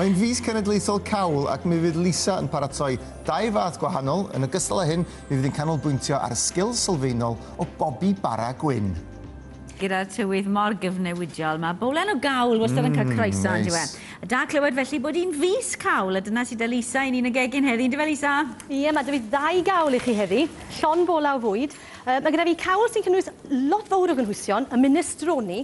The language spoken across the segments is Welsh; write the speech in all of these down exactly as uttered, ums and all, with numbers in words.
Mae'n fis cenedlaethol cawl ac mi fydd Lisa yn paratoi dau fath gwahanol. Yn ogystal â hyn, mi fydd hi'n canolbwyntio ar y sgil sylfaenol o bobi bara gwyn. Gyda'r tywydd mor gyfnewidiol, mae bowlen o gawl wastad yn cael croeso, mm, on'd yw e? Neis. Da clywed felly bod hi'n fis cawl, a dyna sydd 'da Lisa i ni'n y gegin heddi, yndyfe, Lisa? Ie, mae 'da fi ddau gawl i chi heddi, llond bola o fwyd. Uh, mae gyda fi cawl sy'n cynnwys lot fawr o gynhwysion, y minestrone,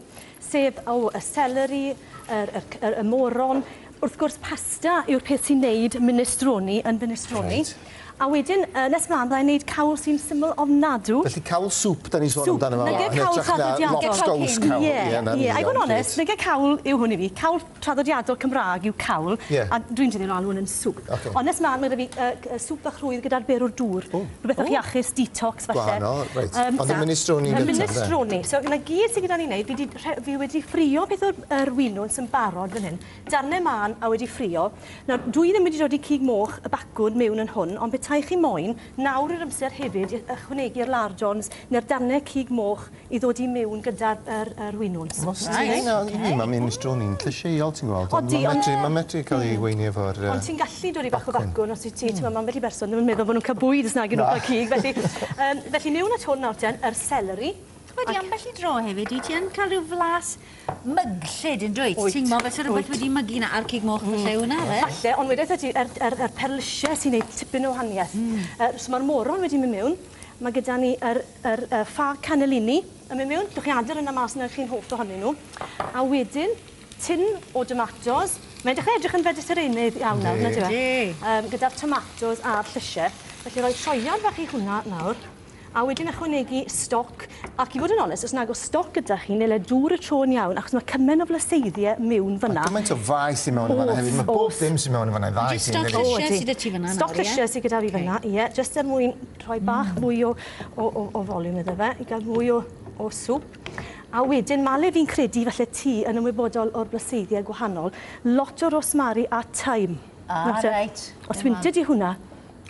sef o, y celery, yr, yr, yr, y moron. Wrth gwrs, pasta yw'r peth sy'n neud minestrone yn minestrone. Reit. A wedyn, uh, nes mlaen, byddai'n neud cawl sy'n syml ofnadw. Felly cawl sŵp da ni'n sôn Sŵp. amdano fo. Nage Yn cawl hytrach na traddodiadol. Lobsgows cawl. Ie, na, ie. A i fod yn iawn, onest, grêt. nage cawl yw hwn i fi. Cawl traddodiadol Cymraeg yw cawl. Ie. A dwi'n tueddu alw hwn yn sŵp. Ocê. Ond nes mlaen, mae gyda fi uh, sŵp bach rhwydd gyda'r berwr dŵr. O. Rhywbeth bach iachus, detox falle. Gwahanol, reit. Ond y minestrone Y yn gyntaf, de? minestrone. So, 'na gyd sydd gyda ni wneud, fi, 'di rhe- fi wedi ffrio peth o'r yr winwns yn barod fan hyn. Darnau mân a wedi ffrio. Nawr, dwi ddim wedi dod i cig moch y bacwn mewn yn hwn, ond petai chi moyn, nawr yw'r amser hefyd i ychwanegu'r lardons neu'r darnau cig moch i ddod i mewn gyda'r yr, yr winwns. Os ti'n na, i fi, mae minestrone'n llysieuol, ti'n gweld. Ond Odi, Mae'n ond- medru, mae'n medru cael ei weini efo'r yy, Ond ti'n gallu dod i bach o bacwn. bacwn os wyt ti, ti'n meddwl, ambell i berson ddim yn meddwl bod nhw'n cael bwyd os nag ydyn nhw'n cael cig. Felly, um, felly mewn at hwn nawr ten, yr celery. Wedi ambell i dro hefyd, wyt ti yn cael rhyw flas myglyd yn dwyt? Wyt. Ti'n meddwl fel rhywbeth Wyt. wedi mygu 'na a'r cig moch falle hwnna, fe? Falle, ond wedyn ti, yr, yr, yr perlysiau sy'n neud tipyn o wahaniaeth. Mm. Uh, so mae'r moron wedi mynd mewn. Mae gyda ni yr, yr, yr ffa cannellini yn mynd mewn. Gallwch chi adael yna mas na chi'n hoff ohonyn nhw. A wedyn, tin o tomatos. Mae'n dechrau edrych yn vegetarianaidd iawn nawr, Yndi. nag yw e? Yndi. Um, gyda'r tomatos a'r llysiau. Felly rhoi troiad bach i hwnna nawr. A wedyn ychwanegu stoc. Ac i fod yn onest, os nag oes stoc gyda chi, neu le dŵr y tro yn iawn, achos mae cymaint o flaseiddiau mewn fyna. Gymaint o faeth i mewn yn fan'na Oes, hefyd. Mae bob oes. dim sy'n mewn yn fan'na, dda i Jyst ti. stoc yndydi? llysiau Odi. sydd 'da ti fan'na Stoc nawr, ie? llysiau sydd gyda fi fan'na, ie. Jyst er mwyn rhoi bach mwy o, o, o, o volume iddo fe, i gael mwy o, o sŵp. A wedyn, male fi'n credu falle ti yn ymwybodol o'r blaseiddiau gwahanol, lot o rosmari a thyme. Ah, Nawr te, reit. Os wyntio di hwnna,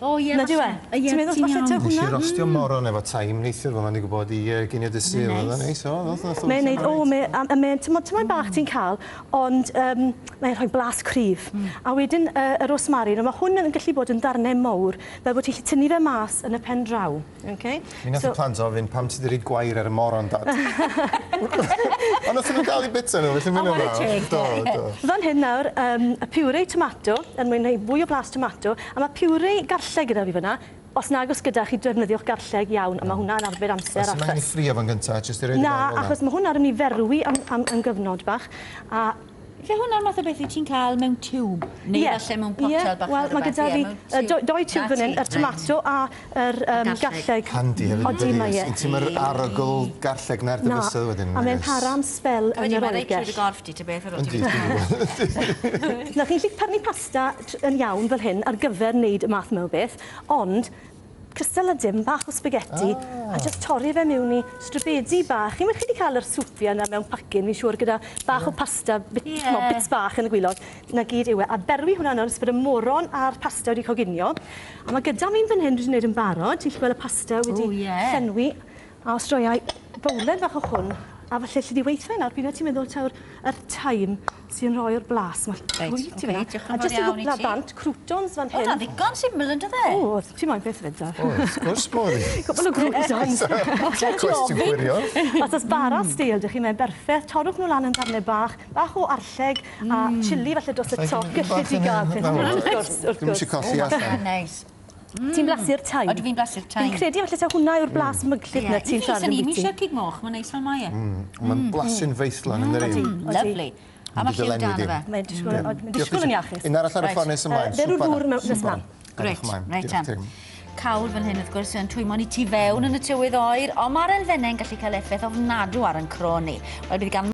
O, ie, na dyw e? falle. Ie, Ti'n meddwl ti'n falle iawn. taw Nes i hwnna? rostio moron efo thyme neithiwr, fel ma'n digwydd bod i uh, ginio dy Sul. Neis. Oedd o'n neis, o, oedd o'n Mae'n neud, o, mae, a, a mae'n, ti'n tymaid bach ti'n cael, ond um, mae'n rhoi blas cryf. Mm. A wedyn uh, y rosmari, mae hwn yn gallu bod yn darnau mawr, fel bod ti'n gallu tynnu fe mas yn y pen draw. Okay? Mi nath y plant ofyn pam ti 'di rhoid gwair ar y moron, Dad. Ond nath nhw dal i bita nhw, felly mynd O, chwarae teg. Do, do. Fan hyn nawr, um, y puree tomato, yn mwyn rhoi fwy o blas tomato, a mae puree garlleg gyda fi fyna. Os nag oes gyda chi, defnyddiwch garlleg iawn, a mae hwnna'n arbed amser Oes a yma i ffys. ffrio fo'n gyntaf, jyst i roid i Na, mewn fel 'na? achos mae hwnna'n mynd i ferwi am, am, am gyfnod bach. A Felly hwnna'r math o beth wyt ti'n cael mewn tiwb? Neu Ie. falle mewn potel Ie, bach Wel, neu mae rhywbeth, gyda ie, fi mewn yy, tiwb. do- doi tiwb Na fan hyn, ti, yr tomato a yr um, garlleg. garlleg. Handi hefyd, Odi, dydi? mae e. Ti'n mae'r arogl garlleg na'r Na, dy fysedd wedyn. a mae'n nag oes? para am sbel yn Wedi, yr mae'n reit trwy dy oergell. gorff di, ta beth ar ôl Yndi, ti. dwi'n gwybod. Na, chi'n gallu prynu pasta tr- yn iawn fel hyn ar gyfer wneud y math yma o beth, ond cystal a dim, bach o spaghetti, ah. a just torri fe mewn i stribedi bach. Chi'n chi wedi cael yr swpiau yna mewn pacyn, fi'n siŵr, gyda bach o pasta, bit, Ie. yeah. bits bach yn y gwaelod. 'Na gyd yw e. A berwi hwnna nawr, nes bod y moron a'r pasta wedi coginio. A mae gyda fi'n fan hyn, dwi wedi gwneud yn barod. Ti'n gallu gweld y pasta wedi O, ie. llenwi. A os droiau bowlen fach o hwn, a falle lle di weithio nawr, pryd ti'n meddwl taw'r yr thyme sy'n rhoi'r blas. Mae Reit, llwyth i ocê, fyna. diolch yn A fawr jyst i iawn i gwpla ti. bant, croutons fan O, hyn. na ddigon syml yn dyfe? O, ti'n moyn beth fyd, da. O, wrth gwrs bod i. Cwpl o croutons. Cwestiwn gwirion. Os oes bara stêl, dych chi'n mewn berffaith, torrwch nhw lan yn darnau bach, bach o arlleg a chili falle dros y top, gallu di gael peth. Wrth gwrs, wrth Dwi'm gwrs. eisiau colli allan. Neis. Ti'n blasu'r thyme? Odw fi'n blasu'r thyme. Fi'n credu falle taw hwnna yw'r blas myglyd na ti'n siarad Ni ambiti. eisiau cig moch, mae'n neis fel mae e. Mae'n blasu'n feithlan yn yr Odi, un. odi. Lovely. A mae lliw Dylenwi dan di. o fe. Mae'n disgwyl, mae'n disgwyl yn iachus. Un arall ar y Reit. ffordd nes ymlaen. Yy, berw'r ddŵr mewn- nes ymlaen. Grêt, reit am. Cawl fan hyn, wrth gwrs, yn twymo ni tu fewn yn y tywydd oer, ond mae'r elfennau'n gallu cael effaith ofnadw ar yn croen ni. Wel, bydd gan